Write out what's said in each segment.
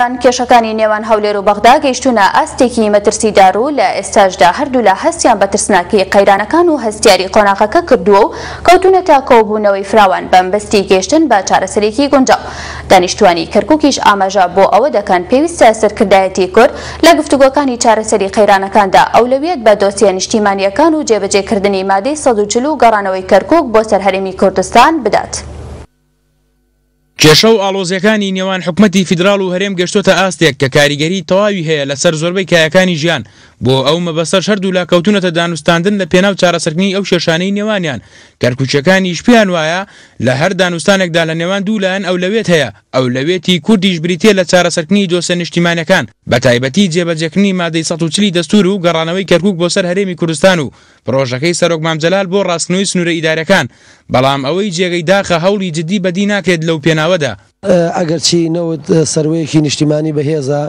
کێشەکانی نێوان هەولێر و بەغدا گەیشتوونە ئاستێکی مەترسیدار و لە ئێستاشدا هەردوولا هەستیان بە ترسناکی قەیرانەکان و هەستیاری قۆناغەکە کردووە و کەوتوونەتە کۆبوونەوەی فراوان بەمبەستی گەیشتن بە چارەسەرێکی گونجاو. دانیشتووانی کەرکوکیش ئاماژە بۆ ئەوە دەکەن پێویستە سەرکردایەتی کورد لە گفتوگۆکانی چارەسەری قەیرانەکاندا ئەولەویەت بە دۆسیە نیشتیمانییەکان و جێبەجێکردنی مادەی 140 و گەڕانەوەی کەرکوک بۆ سەر هەرێمی کوردستان بدات. کێشە و ئاڵۆزییەکانی نێوان حکومەتی فیدراڵ و هەرێم گەشتۆتە ئاستێک کە کاریگەریی تەواوی هەیە لەسەر زۆربەی کایەکانی ژیان، بۆ ئەو مەبەستەش هەردوولا کەوتوونەتە دانوستاندن لە پێناو چارەسەرکردنی ئەو کێشانەی نێوانیان، کەرکوکییەکانیش پێیان وایە لە هەر دانوستانێکدا لە نێوان دوو لایەن ئەولەویەت هەیە، ئەولەویەتی کوردیش بریتییە لە چارەسەرکردنی دۆسیە نیشتیمانیەکان، بەتایبەتی جێبەجێکردنی مادەی 140 ی دەستوور و گەڕانەوەی کەرکوک بۆ سەر هەرێمی کوردستان و پڕۆژەکەی سەرۆک مام جەلال بۆ ڕاستکردنەوەی سنوورە ئیداریەکان، بەڵام ئەوەی جێگەی داخە هەوڵی جدی بەدی ناکرێت لەو پێناوەدا. ئەگەرچی نەوت سەروەیەکی نیشتیمانی بەهێزە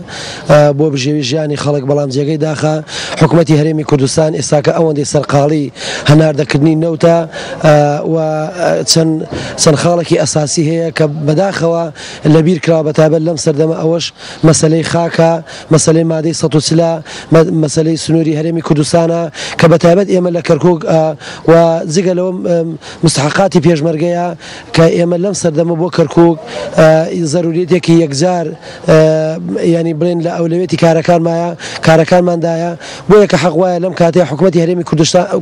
بۆ بژێوی ژیانی خەڵک، بەڵام جێگەی داخە حکومەتی هەرێمی کوردستان ئێستاکە ئەوەندەی سەرقاڵی هەناردەکردنی نەوتە و چەند چەند خاڵێکی ئەساسی هەیە کە بەداخەوە لەبیر کراوە بەتایبەت لەم سەردەمە ئەوەش مەسەلەی خاکە، مەسەلەی مادەی 140 ە، مەسەلەی سنووری هەرێمی کوردستانە کە بەتایبەت ئێمە لە کەرکووک و جگە لەوە مستحەقاتی پێشمەرگەیە کە ئێمە لەم سەردەمە بۆ کەرکووک زەروریەتێکی یەکجار یانی بڵێن لە ئەولەویەتی کارەکانمایە کارەکانماندایە بۆیە کە حەق وایە لەم کاتەیە حکومەتی هەرێمی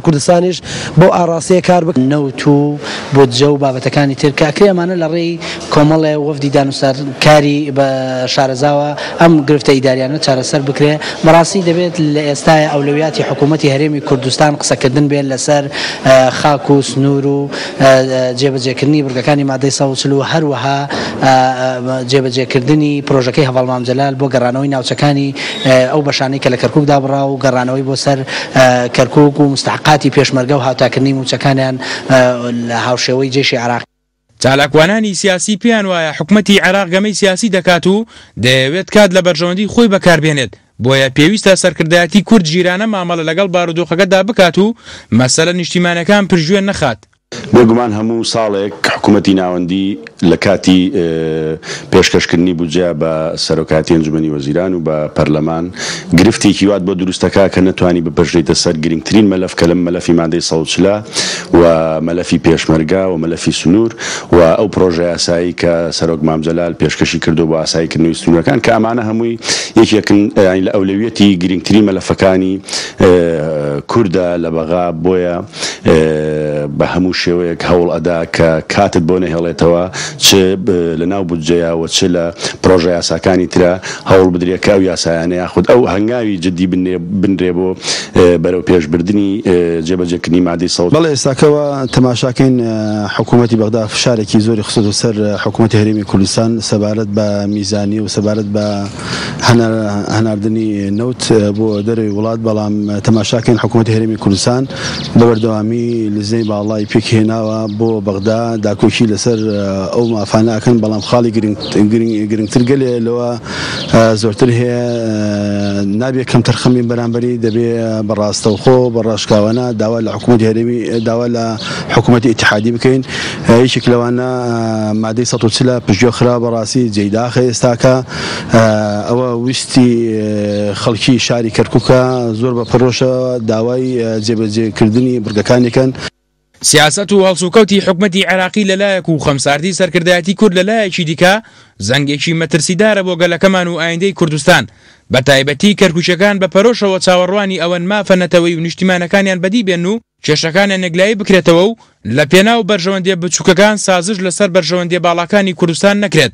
کوردستانیش بەو ئاڕاستەیە کار بکات. نەوت و بودجە و بابەتەکانی تر کە ئەکرێ ئەمانە لە ڕێی کۆمەڵێ وەفدی دانوستانکاری بە شارەزاوە ئەم گرفتە ئیداریانە چارەسەر بکرێ. بەڕاستی دەبێت لە ئێستایا ئەولەویاتی حکوومەتی هەرێمی کوردستان قسەکردن بێت لەسەر خاک و سنوور و جێبەجێکردنی بڕگەکانی مادەی 140 و هەروەها جێبەجێکردنی پرۆژەکەی هەڤاڵ مام جەلال بۆ گەڕانەوەی ناوچەکانی ئەو بەشانەی کە لە کەرکووک دابڕا و گەڕانەوەی بۆ سەر کەرکووک و موستەحەقاتی پێشمەرگە و هاوتاکردنی مووچەکانیان لە هاوشێوەی جەیشی عێراقی. چالاکوانانی سیاسی پێیان وایە حکومەتی عێراق گەمەی سیاسی دەکات و دەیەوێت کات لە بەرژەوەندی خۆی بەکاربێنێت، بۆیە پێویستە سەرکردایەتی کورد ژیرانە مامەڵە لەگەڵ بارودۆخەکەدا بکات و مەسەلە نیشتیمانیەکان پشتگوێ نەخات. بێگومان هەموو ساڵێک حکومەتی ناوەندی لە کاتی پێشکەشکردنی بودجە بە سەرۆکایەتی ئەنجومەنی وەزیران و بە پەرلەمان گرفتێکی وات بۆ دروست دەکا کە نەتوانی بپەرژێیتە سەر گرنگترین مەلەف کە لەم مەلەفی مادەی 140 و مەلەفی پێشمەرگە و مەلەفی سنوور و ئەو پرۆژە یاسایی کە سەرۆک مام جەلال پێشکەشی کردووە بۆ ئاسایی کردنەوەی سنوورەکان کە ئەمانە هەمووی یەکێکن یانی لە ئەولەویەتی گرنگترین مەلەفەکانی کوردە لە بەغا بۆیە بە هەموو شێوەیەک هەوڵ ئەدا کە کاتت بۆ نەهێڵێتەوە چ لە ناو بودجەیا و چ لە پرۆژە یاساکانی ترا هەوڵ بدرێ کە ئەو یاسایانە یاخود ئەو هەنگاوی جدی بنرێ بۆ بەرەو پێش بردنی جێبەجێکردنی مادەی سەد. بەڵێ ئێستاکە وا تەماشاکەین حکوومەتی بەغدا فشارێکی زۆری خستۆتە سەر حکوومەتی هەرێمی کوردستان سەبارەت بە میزانی و سەبارەت بە هەناردنی نەوت بۆ دەرەوەی وڵات، بەڵام تەماشاکەین حکوومەتی هەرێمی کوردستان بە بەردەوامی لیژنەی باڵای پێکهێناوە بۆ بەغدا داکۆکی لەسەر ئەو مافانە ئەکەن، بەڵام خاڵی گرنگتر گەلێ لەوە زۆرتر هەیە نابێ کەمتەرخەم بین بەرامبەری، دەبێ بە ڕاستەوخۆ بە ڕاشکاوانە داوا لە حکوومەتی هەرێمی داوا لە حکوومەتی ئیتیحادی بکەین، یەکێک لەوانە مادەی 140 پشتگوێ خراوە بەڕاستی جێی داخە ئێستاکە. ئەوە ویستی خەڵکی شاری کەرکوکە زۆر بە پەرۆشەوە داوای جێبەجێکردنی بڕگەکانی کەن. سیاسەت و هەڵسوکەوتی حکومەتی عێراقی لەلایەک و خەمساردی سەرکردایەتی کورد لەلایەکی دیکە زەنگێکی مەترسیدارە بۆ گەلەکەمان و ئایندەی کوردستان بەتایبەتی کەرکوکیەکان بە پەرۆشەوە چاوەڕوانی ئەوەن مافە نەتەوەیی و نیشتیمانەکانیان بەدی بێن و کێشەکانیان یەکلایی بکرێتەوە و لەپێناو بەرژەوەندیە بچوکەکان سازش لەسەر بەرژەوەندیە باڵاکانی کوردستان نەکرێت.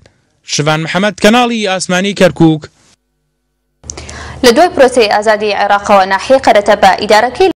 شڤان محەمەد، کەناڵی ئاسمانی کەرکوک. لە دوای پرۆسەی ئازادیی عێراقەوە ناحیەی قەرەتەپە ئیدارەکەی.